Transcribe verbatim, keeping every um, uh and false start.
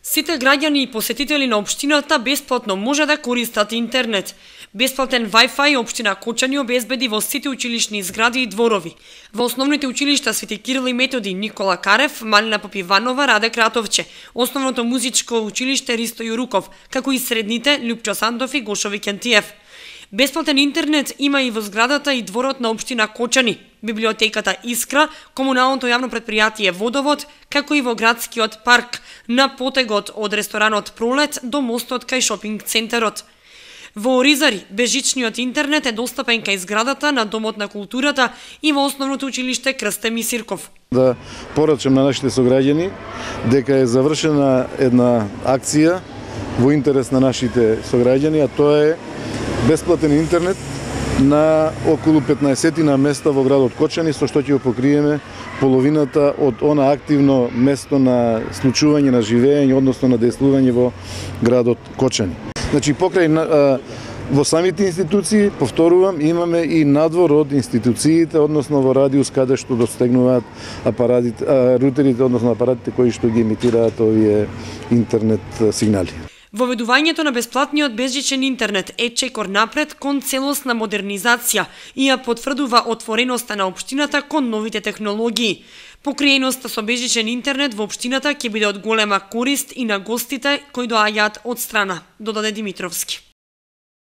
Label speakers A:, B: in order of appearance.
A: Сите граѓани и посетители на општината бесплатно може да користат интернет. Бесплатен Wi-Fi општина Кочани обезбеди во сите училишни згради и дворови. Во основните училишта Свети Кирил и Методи, Никола Карев, Малина Попиванова, Раде Кратовче, основното музичко училиште Ристо Јуруков, како и средните Лјупчо Сандов и Гошо Викентиев. Бесплатен интернет има и во зградата и дворот на општина Кочани, библиотеката Искра, комуналното јавно предпријатие Водовод, како и во градскиот парк, на потегот од ресторанот Пролет до мостот кај шопинг центарот. Во Оризари, безжичниот интернет е достапен кај зградата на Домот на културата и во основното училиште Крсте Мисирков.
B: Да порачам на нашите сограѓани дека е завршена една акција во интерес на нашите сограѓани, а тоа е бесплатен интернет на околу петнаесет на места во градот Кочани, со што ќе го покриеме половината од она активно место на случување на живење, односно на дејствување во градот Кочани. Значи, покрај во самите институции, повторувам, имаме и надвор од институциите, односно во радиус каде што достигнуваат апаратите, рутерите, односно апаратите кои што ги емитираат овие интернет сигнали.
A: Воведувањето на бесплатниот безжичен интернет е чекор напред кон целосна модернизација и ја потврдува отвореноста на општината кон новите технологии. Покриеноста со безжичен интернет во општината ќе биде од голема корист и на гостите кои доаѓаат од страна, додаде Димитровски.